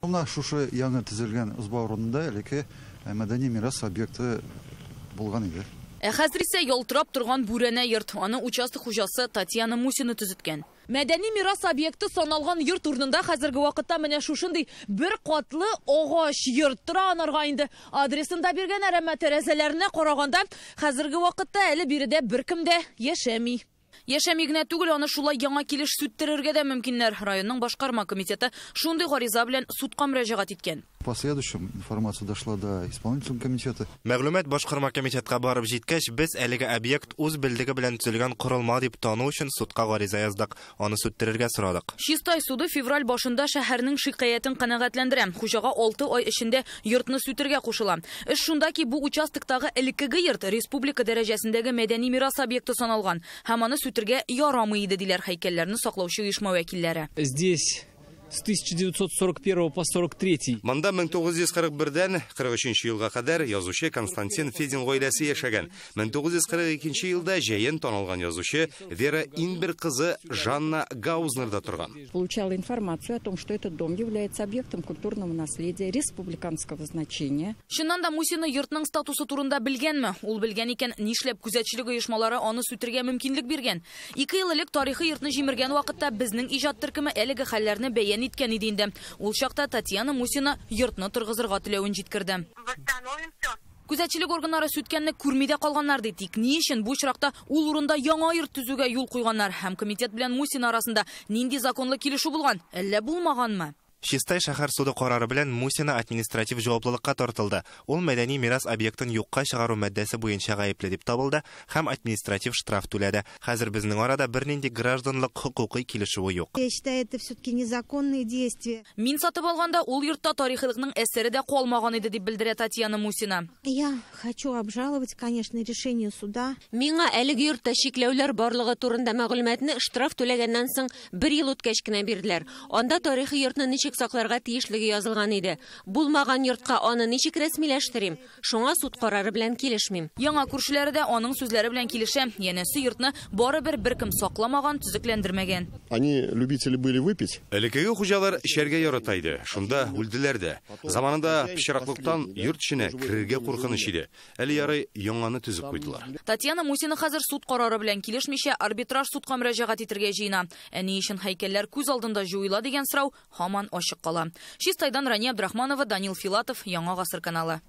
Менә шушы яңа төзелгән ызба урынында элекке мәдәни мирас объекты булган иде. Ә хәзер исә ялтырап торган бүрәнә йорт. Аны участок хуҗасы Татьяна Мусина төзеткән. Мәдәни мирас объекты саналган йорт урынында хәзерге вакытта менә шушындый бер катлы агач йорт тора. Анарга инде адресын да биргәннәр, әмма тәрәзәләренә караганда, хәзерге вакытта әле биредә беркем дә яшәми. Яшәми генә түгел, аны шулай яңа килеш сүттерергә дә мөмкиннәр. Районның башкарма комитеты шундый гариза белән судка мөрәҗәгать иткән. В последующем информация дошла до исполнительного комитета. Мәгълүмат башкарма комитетка барып җиткәч, без әлеге объект үз белдеге белән төзелгән корылма дип тану өчен судка гариза яздык. Аны сүттерергә сорадык. Чистай суды февраль башында шәһәрнең шикаятен канәгатьләндерә. Хуҗага 6 ай эчендә йортны сүтергә кушыла. Эш шунда ки, бу участоктагы элеккеге йорт республика дәрәҗәсендәге мәдәни мирас объекты саналган һәм аны сүтергә ярамый иде, диләр һәйкәлләрне саклаучы оешма вәкилләре. Здесь с 1941 по 43. Монда 1941-дән 43 елга кадәр язучы Константин Федин гаиләсе яшәгән. 1942 елда җәен танылган язучы Вера Инбер кызы Жанна Гаузнерда торган. Получала информацию о том, что этот дом является объектом культурного наследия республиканского значения. Чыннан да, Мусина йортның статусы турында белгәнме? Ул белгән икән, нишләп күзәтчелек оешмалары аны сүтергә мөмкинлек биргән? 2 ел элек тарихи йортны җимергән вакытта безнең иҗат төркеме әлеге хәлләрне бәян иткән иде инде. Ул чакта Татьяна Мусина йортны торгызырга теләвен җиткерде. Күзәтчелек органнары сүткәнне күрми дә калганнар ди. Тик ни өчен бу очракта ул урында яңа йорт төзүгә юл куйганнар һәм комитет белән Мусина арасында нинди законлы килешү булган? Әллә булмаганмы? Чистай шәһәр суды карары белән Мусина административ җаваплылыкка тартылды. Ул мәдәни мирас объектын юкка чыгару маддәсе буенча гаепле дип табылды һәм административ штраф түләде. Хәзер безнең арада бернинди гражданлык хокукый килешүе юк. Я считаю, это все-таки незаконные действия. Мин сатып алганда ул йортта тарихилыкның әсәре дә калмаган иде, дип белдерә Татьяна Мусина. Я хочу обжаловать, конечно, решение суда. Миңа әлеге йортта чикләүләр барлыгы турында мәгълүматны штраф түләгәннән соң бер ел үткәч кенә бирделәр. Анда тарихи йортны ничек сакларга тиешлеге язылган иде. Булмаган йортка аны ничек рәсмиләштерим? Шуңа суд карары белән килешмим. Яңа күршеләре дә аның сүзләре белән килешә. Янәсе, йортны барыбер беркем сакламаган, төзекләндермәгән. Они любители были выпить. Элеккеге хуҗалар эчәргә ярата иде. Шунда үлделәр дә. Заманында пычраклыктан йорт эченә керергә куркыныч иде. Әле ярый яңаны төзеп куйдылар. Татьяна Мусина хәзер суд карары белән килешмичә арбитраж судка мөрәҗәгать итәргә җыена. Ә ни өчен һәйкәлләр күз алдында җуела дигән сорау һаман ачык кала. Чистайдан Рания Абдрахманова, Данил Филатов, Яңа Гасыр каналы.